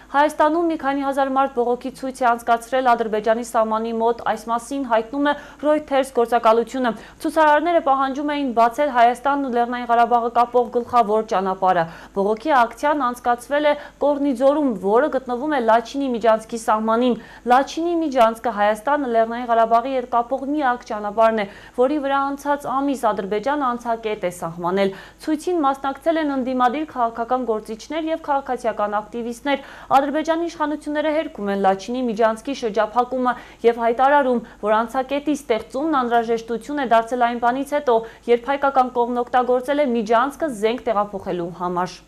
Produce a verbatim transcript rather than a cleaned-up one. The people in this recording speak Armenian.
Հայաստանում մի քանի հազար մարդ բողոքի ցույց է անցկացրել Ադրբեջանի սահմանի մոտ, այս մասին հայտնում է Reuters գործակալությունը։ Ցուցարարները պահանջում էին բացել Հայաստանն ու Լեռնային Ղարաբաղը կապող գլխավոր ճանապարհը։ Բողոքի ակցիան անցկացվել է Կորնիձորում, որը գտնվում է Լաչինի միջանցքի սահմանին։ Լաչինի միջանցքը Հայաստանը Լեռնային Ղարաբաղի հետ կապող միակ ճանապարհն է, որի վրա անցած ամիս Ադրբեջանը անցակետ է սահմանել։ Ցույցին մասնակցել են ընդդիմադիր քաղաքական գործիչներ եւ քաղաքացիական ակտիվիստներ։ Ադրբեջանի իշխանությունները հերքում են Լաչինի միջանցքի շրջափակումը եւ հայտարարում, որ անցակետի ստեղծումն անհրաժեշտություն է դարձել այն բանից հետո, երբ հայկական կողմն օգտագործել է միջանցքը զենք տեղափոխելու համար։